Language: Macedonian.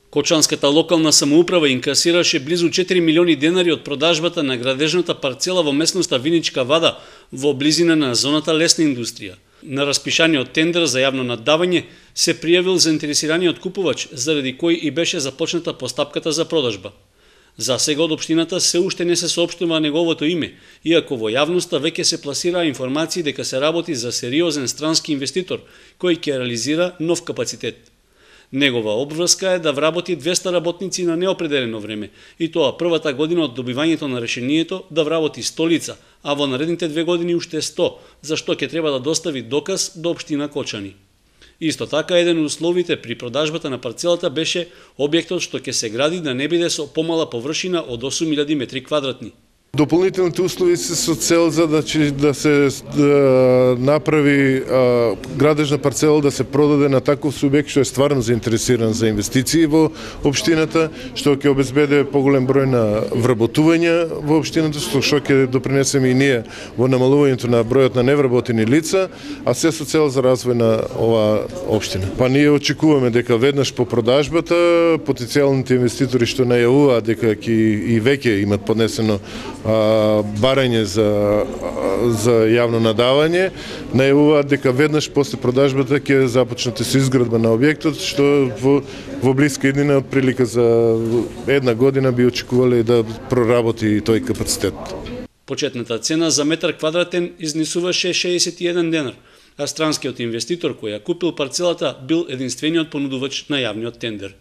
Кочанската локална самоуправа инкасираше близу 4 милиони денари од продажбата на градежната парцела во местноста Виничка Вада во близина на зоната лесна индустрија. На распишаниот тендер за јавно наддавање се пријавил заинтересираниот купувач, заради кој и беше започната постапката за продажба. За сега од општината се уште не се соопштува неговото име, иако во јавноста веќе се пласираа информации дека се работи за сериозен странски инвеститор кој ќе реализира нов капацитет. Негова обврска е да вработи 200 работници на неопределено време, и тоа првата година од добивањето на решението да вработи 100 лица, а во наредните 2 години уште 100, за што ќе треба да достави доказ до општина Кочани. Исто така, еден од условите при продажбата на парцелата беше објектот што ќе се гради да не биде со помала површина од 8000 метри квадратни. Дополнителните услови се со цел за да се направи градежна парцела да се продаде на таков субјект што е стварно заинтересиран за инвестиции во општината, што ќе обезбеди поголем број на вработувања во општината, што ќе допринесеме и ние во намалувањето на бројот на невработени лица, а се со цел за развој на оваа општина. Па ние очекуваме дека веднаш по продажбата потенцијалните инвеститори што најавуваат дека ќе и веќе имат поднесено барање за јавно надавање, најавуваат дека веднаш после продажбата ќе започнете со изградба на објектот, што во блиска иднина од прилика за 1 година би очекувале да проработи тој капацитет. Почетната цена за метар квадратен изнесуваше 61 денар, а странскиот инвеститор кој ја купил парцелата бил единствениот понудувач на јавниот тендер.